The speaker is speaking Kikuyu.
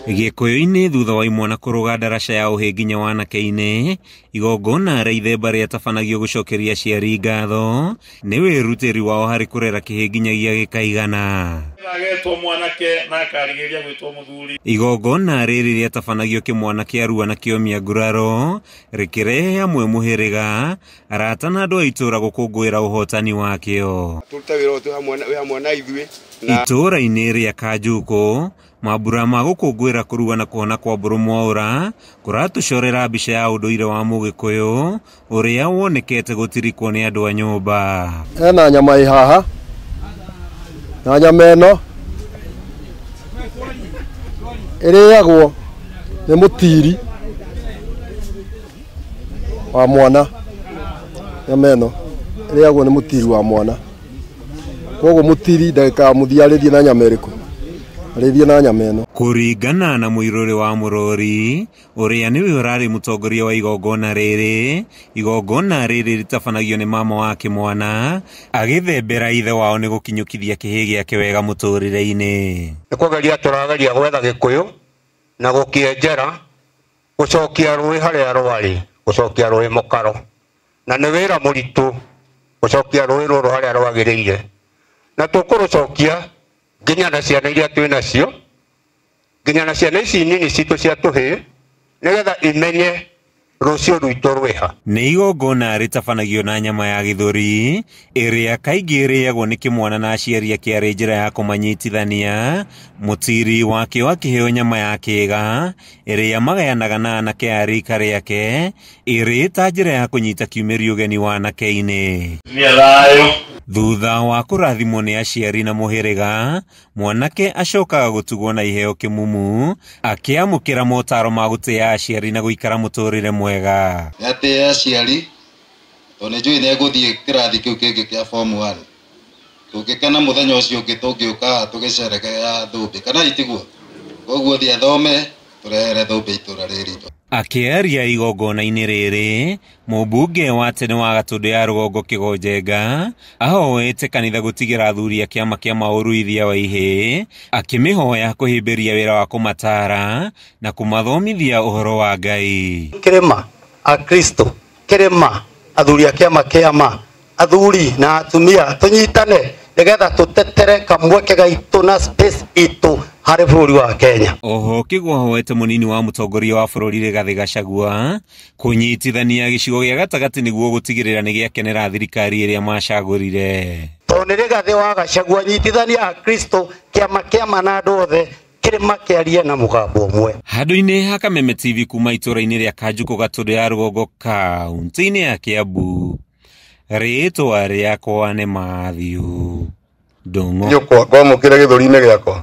Gĩkũyũ-inĩ thutha wa imwana kũrũga ndaraca ya ũhĩ nginya wanake-inĩ, igongona rĩa ithemba rĩatabanagio gũcokeria aciari ngatho nĩ wĩrutĩri wao harĩ kũrera kĩhĩ nginyagia gĩkaigana. Agetwo mwanake na akarigĩrĩria gwĩtwo mũthuri. Igongona rĩrĩ rĩatabanagio kĩmwana kĩarua na kĩomia nguraro rĩkĩrehe hamwe mũhĩrĩga, arata na andũ a itũũra gũkũngũĩra ũhotani wakĩo. Tũrute wĩra ũyũ wĩ hamwe na ithuĩ. Itũũra-inĩ rĩa Kanjukũ, mambura ma gũkũngũĩra kũrua na kũhona kwa Mbũrũ Mwaũra kũratũcorera mbica ya ũndũire wa Mũgĩkũyũ ũrĩa wonekete gũtirikwo nĩ andũ a nyũmba. Hena nyama ĩ haha na nyama ĩno ĩrĩagwo nĩ mũtiri wa mwana. Nyama ĩno ĩrĩagwo nĩ mũtiri wa mwana, koguo mũtiri ndagĩka ya mũthia arĩthiĩ na nyama ĩrĩkũ? Arĩthiĩ na nyama ĩno. Kũringana na mũirũrĩ wa Mũrori ũrĩa nĩwe ũrarĩ mũtongoria wa igongona rĩrĩ, igongona rĩrĩ rĩtabanagio nĩ mama wa kĩmwana agĩthembera ithe wao nĩ gũkinyũkithia kĩhĩ gĩake wega mũtũrĩre-inĩ. Nĩ kũgeria tũrageria gwetha Gĩkũyũ na gũkĩenjera, gũcokia rũĩ harĩa rwarĩ, gũcokia rũĩ mũkaro, na nĩ wĩra mũritũ gũcokia rũĩ rũrũ harĩa rwagĩrĩire, na tũkũrũcokia nginya na ciana iria twĩ nacio, nginya na ciana ici nini citũ cia tũhĩĩ, nĩgetha imenye rũciũ rwitũ rwĩha. Nĩ igongona rĩtabanagio na nyama ya gĩthũri ĩrĩa kaingĩ ĩrĩagwo nĩ kĩmwana na aciari ake arĩ njĩra ya kũmanyitithania. Mũtiri wakĩo akĩheo nyama ya kĩga ĩrĩa magayanaga na anake a rika rĩake ĩrĩ ta njĩra ya kũnyita kiumĩri ũgeni wanake-inĩ. Thutha wa kũrathimwo nĩ aciari na mũhĩrĩga, mwanake acokaga gũtugwo na iheo kĩmumu akĩamũkĩra motaro ma gũtĩa aciari na gũikara mũtũrĩre mwega. Atĩ aciari tondũ nĩ njũĩ nĩ egũthiĩ kĩrathi kĩu kĩngĩ kĩa form 1, tũngĩkena mũthenya ũcio ũngĩ tũngĩũka haha tũgĩcerekea thũmbĩ, kana itiguo? Koguo thiĩ athome tũrehere thũmbĩ itũra rĩrĩ ritũ. Akĩaria igongona-inĩ rĩrĩ, mũmbunge wa tene wa Gatũndũ ya Rũgongo Kĩgonjenga ahoete kanitha gũtigĩra athuri a kĩama kĩa maũruithia wa ihĩĩ, akĩmĩhoya kũhĩmbĩria wĩra wa kũmataara na kũmathomithia ũhoro wa Ngai. Kĩrĩma Akristo, kĩrĩma athuri a kĩama kĩama, athuri na atumia tũnyitane nĩgetha tũtetere kamweke gaitũ na space itũ harĩ bũrũri wa Kenya. Oho Kĩgwa ahoete mũnini wa mũtongoria wa bũrũri Rigathĩ Gachagua kũnyitithania gĩcigo gĩa gatagatĩ nĩguo gũtigĩrĩra nĩ gĩakenera thirikari ĩrĩa macagũrire. Tondũ nĩ Rigathĩ wa Gachagua, nyitithania Akristo, kĩama kĩama na andũ othe, kĩrĩma kĩarie na mũgambo ũmwe. Handũ-inĩ ha Kameme TV kuma itũũra-inĩ rĩa Kanjukũ Gatũndũ ya Rũgongo kaunti-inĩ ya Kiambu, rĩtwa rĩakwa nĩ Matthew Ndung'u. Nyũkwa ngwamũkĩra gĩthũri-inĩ gĩakwa.